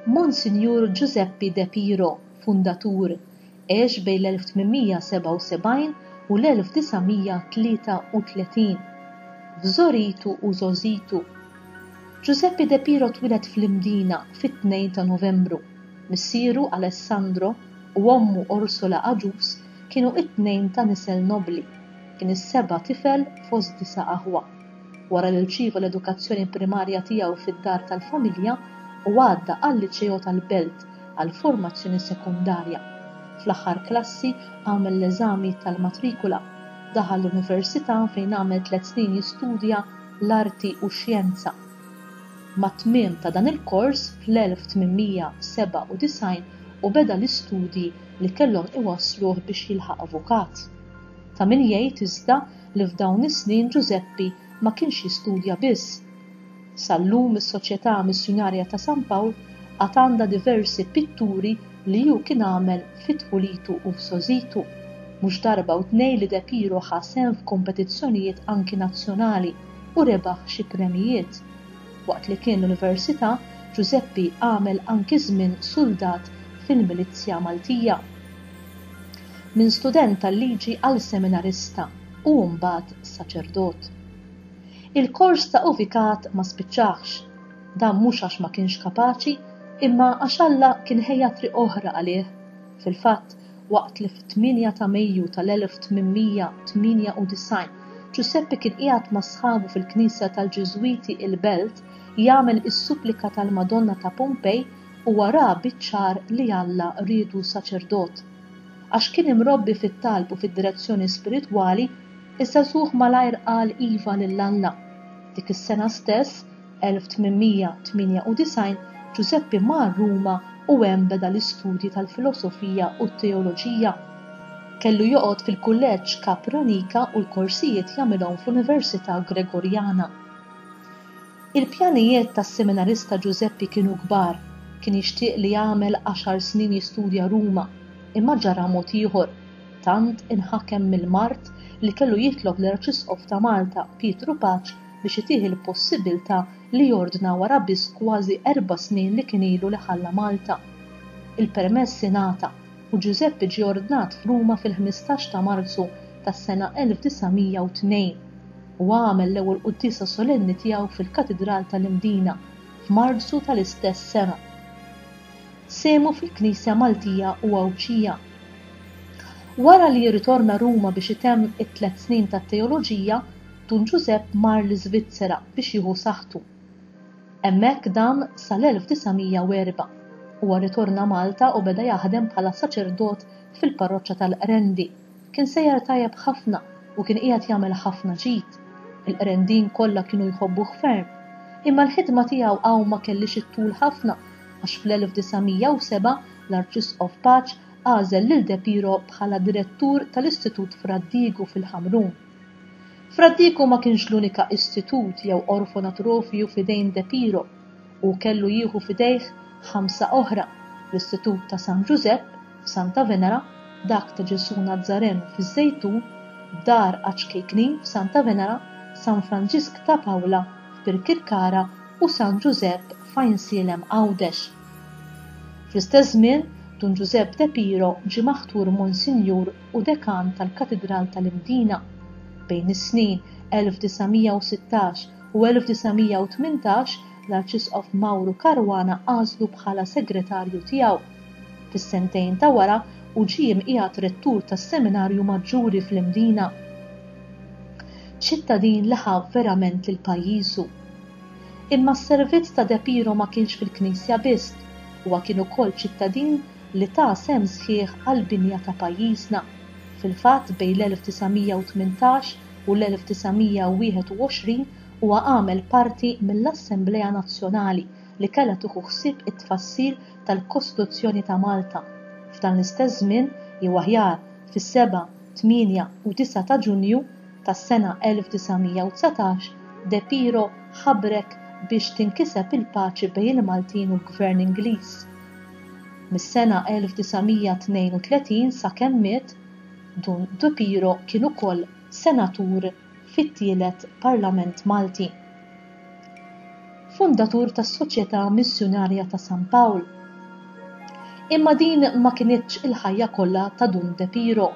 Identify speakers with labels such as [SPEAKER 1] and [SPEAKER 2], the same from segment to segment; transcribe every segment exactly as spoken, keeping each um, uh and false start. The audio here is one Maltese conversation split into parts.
[SPEAKER 1] Monsinjur Ġużeppi De Piro, fundatur, għex bejn l-elf tmien mija sebgħa u sebgħin u l-elf disa' mija tlieta u tletin. F'żgħoritu u żgħożitu. Ġużeppi De Piro twieled fl-Imdina fit-tnejn ta' Novembru. Missieru Alessandro u ommu Orsola Agius kienu it-tnejn ta' nisel nobli. Kien is-seba' tifel fost disa' aħwa. Wara li rċieva l-edukazzjoni primarja tiegħu fid-dar tal-familja u għadda għal-liċeo tal-Belt għal formazzjoni sekondarja. Fl-aħħar klassi għamel l-eżami tal-matrikula. Daħal l-università fejn għamel tliet snin jistudja l-arti u x-xjenza. Mat-tmiem ta' dan il-kors fl-elf tmien mija sebgħa u disgħin u beda l-istudji li kellhom iwassluh biex jilħaq avukat. Ta' min jgħid iżda li f'dawn is-snin Ġużeppi ma kienx jistudja biss. Sal-lum is-Soċjetà Missjunarja ta' San Pawl għad għandha diversi pitturi li hu kien għamel fi tfulitu u f'żgħożitu. Mhux darba u tnejn li De Piro ħa sehem f'kompetizzjonijiet anki nazzjonali u rebaħ xi premjijiet. Waqt li kien l-università, Ġużeppi għamel anki żmien suldat fil-Milizzja Maltija. Minn student tal-liġi għal seminarista u mbagħad saċerdot. Il-kors ta' avukat ma spiċċax. Dan mhux għax ma kienx kapaċi, imma għax Alla kien ħejja triq oħra għalih. Fil-fatt, waqt li fit-tmienja ta' Mejju tal-elf tmien mija tmienja u disgħin Ġużeppi kien qiegħed ma' sħabu fil-Knisja tal-Ġiżwiti il-Belt jagħmel is-supplika tal-Madonna ta' Pompej, u wara biċ-ċar li Alla riedu saċerdot. Għax kien imrobbi fit-talb u fid-direzzjoni spiritwali, iż-żagħżugħ malajr qal iva lil Alla. Dik is-sena stess, elf tmien mija tmienja u disgħin, Ġużeppi mar Ruma u hemm beda l-istudji tal-filosofija u t-teoloġija. Kellu joqgħod fil-kulleġġ Capranica u l-korsijiet jagħmilhom fl-Università Gregorjana. Il-pjanijiet tas-seminarista Ġużeppi kienu kbar. Kien jixtieq li jagħmel għaxar snin jistudja Ruma, imma ġara mod ieħor. Tant inħakem mill-mard li kellu jitlob l-Arċisqof ta' Malta, Pietru Pace, biex itih il-possibilità li jordna wara biss kważi erba' snin li kien ilu li ħalla Malta. Il-permess ingħata u Ġużeppi ġie ordnat f'Ruma fil-ħmistax ta' Marzu tas-sena elf disa' mija u tnejn u għamel l-ewwel quddiesa solenni tiegħu fil-Katidral tal-Imdina f'Marzu tal-istess sena. Sehmu fil-Knisja Maltija u Għawdxija. Wara li jirritorna Ruma biex itemm it-tliet snin tat-teoloġija, Dun Ġużepp mar l-Iżvizzera biex jieħu saħħtu. Hemmhekk dam sal-elf disa' mija u erbgħa. Huwa rritorna Malta u beda jaħdem bħala saċerdot fil-parroċċa tal-Qrendi. Kien sejjer tajjeb ħafna u kien qiegħed jagħmel ħafna ġid. Il-Qrendin kollha kienu jħobbuh ferm. Imma l-ħidma tiegħu hawn ma kellix it-tul ħafna għax fl-elf disa' mija u sebgħa l-Arċisqof Pace għażel lil De Piro bħala direttur tal-Istitut Fra Diegu fil-Ħamrun. Fra Diegu ma kienx l-unika istitut jew orfanatrofju f'idejn De Piro u kellu jieħu f'idejh ħamsa oħra: l-Istitut ta' San Ġużepp f'Santa Venera, dak ta' Ġesù Nazzarenu fiż-Żejtun, Dar Għaċ-Ċkejknin f'Santa Venera, San Franġisk ta' Pawla f'Birkirkara u San Ġużepp f'Għajnsielem Għawdex. Fl-istess żmien, Dun Ġużepp De Piro ġie maħtur Monsinjur u Dekan tal-Katidral tal-Imdina. Bejn is-snin elf disa' mija u sittax u elf disa' mija u tmintax l-Arċisqof Mauro Caruana għażlu bħala segretarju tiegħu. Fis-sentejn ta' wara u ġie imqiegħed rettur tas-Seminarju Maġġuri fl-Imdina. Ċittadin li ħa verament lil pajjiżu. Imma s-servizz ta' De Piro ma kienx fil-Knisja biss, huwa kien ukoll ċittadin li ta sehem sħiħ għall-binja ta' pajjiżna. Fil-fatt, bejn l-elf disa' mija u tmintax u l-elf disa' mija u wieħed u għoxrin huwa għamel parti mill-Assemblea Nazzjonali li kellha tieħu ħsieb it-tfassil tal-Kostituzzjoni ta' Malta. F'dan l-istess żmien, jew aħjar fis-seba', tmienja u disa' ta' Ġunju tas-sena elf disa' mija u dsatax, De Piro ħabrek biex tinkiseb il-paċi bejn il-Maltin u l-Gvern Ingliż. Mis-sena elf disa' mija tnejn u tletin sakemm miet, Dun De Piro kien ukoll senatur fit-tielet Parlament Malti. Fundatur tas-Soċjetà Missjunarja ta' San Pawl. Imma din ma kinitx il-ħajja kollha ta' Dun De Piro.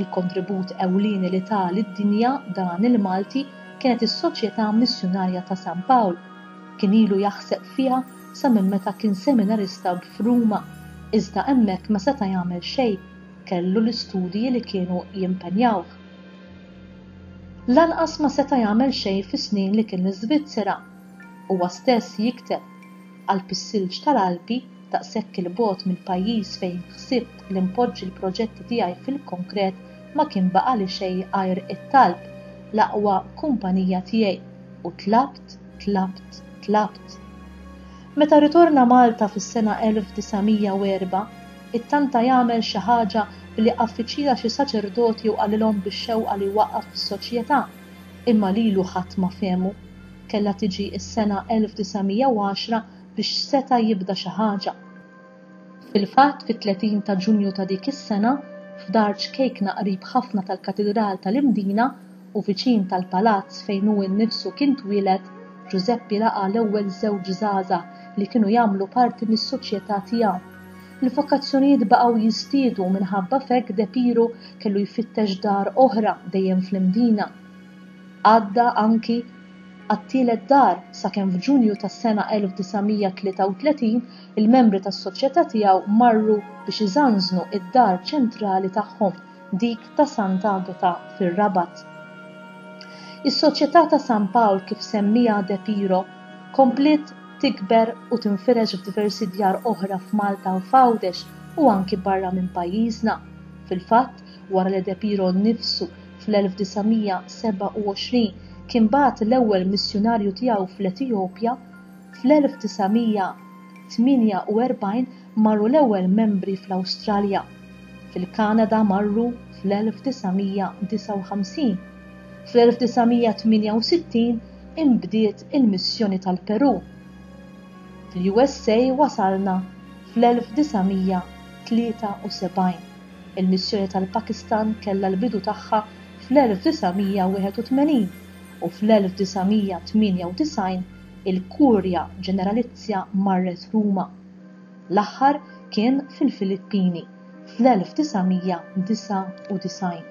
[SPEAKER 1] Il-kontribut ewlieni li ta lid-dinja dan il-Malti kienet is-Soċjetà Missjunarja ta' San Pawl. Kien ilu jaħseb fiha sa minn meta kien seminarista f'Ruma, iżda hemmhekk ma seta' jagħmel xejn, kellu l-istudji li kienu jimpenjawh. Lanqas ma seta' jagħmel xejn fis-snin li kien l-Iżvizzera. Huwa stess jikteb, Qalb is-silġ tal-Alpi, daqshekk 'il bogħod mill-pajjiż fejn ħsibt li npoġġi l-proġetti tiegħi fil-konkret ma kien baqagħli xejn għajr it-talb, l-aqwa kumpanija tiegħi, u tlabt, tlabt, tlabt. Meta rritorna Malta fis-sena elf disa' mija u erbgħa, ittanta jagħmel xi ħaġa billi affiċila xi saċerdoti u qalilhom bix-xewqa li jwaqqaf is-soċjetà, imma lilu ħadd ma fehmu. Kellha tiġi s-sena elf disa' mija u għaxra biex seta' jibda xi ħaġa. Fil-fatt, fit-tletin ta' Ġunju ta' dik is-sena, f'dar ċkejkna qrib ħafna tal-Katidral tal-Imdina u viċin tal-palazz fejn hu nnifsu kien twieled, Ġużeppi laqa' l-ewwel żewġ żgħażagħ li kienu jagħmlu parti mis-soċjetà tiegħu. Il-vokazzjonijiet baqgħu jiżdiedu u minħabba f'hekk De Piro kellu jfittex dar oħra dejjem fl-Imdina. Għadda anki għat-tielet dar sakemm f'Ġunju tas-sena elf disa' mija tlieta u tletin il-membri tas-soċjetà tiegħu marru biex iżanżnu id-dar ċentrali tagħhom, dik ta' Sant'Agata fir-Rabat. Is-Soċjetà ta' San Pawl kif semmija De Piro kompliet tikber u tinfirex f'diversi djar oħra f'Malta u f'Għawdex u anki barra minn pajjiżna. Fil-fatt, wara li De Piro nnifsu fl-elf disa' mija sebgħa u għoxrin kien bagħat l-ewwel missjunarju tiegħu fl-Etjopja, fl-elf disa' mija tmienja u erbgħin marru l-ewwel membri fl-Awstralja. Fil-Kanada marru fl-elf disa' mija disgħa u ħamsin. Fl-elf disa' mija tmienja u sittin inbdiet il-missjoni tal-Peru. Fil-U S A wasalna fl-elf disa' mija tlieta u sebgħin. Il-missjoni tal-Pakistan kellha l-bidu tagħha fl-elf disa' mija wieħed u tmenin u fl-elf disa' mija tmienja u disgħin il-Kurja Ġeneralizja marret Ruma. L-aħħar kien fil-Filippini fl-elf disa' mija disgħa u disgħin.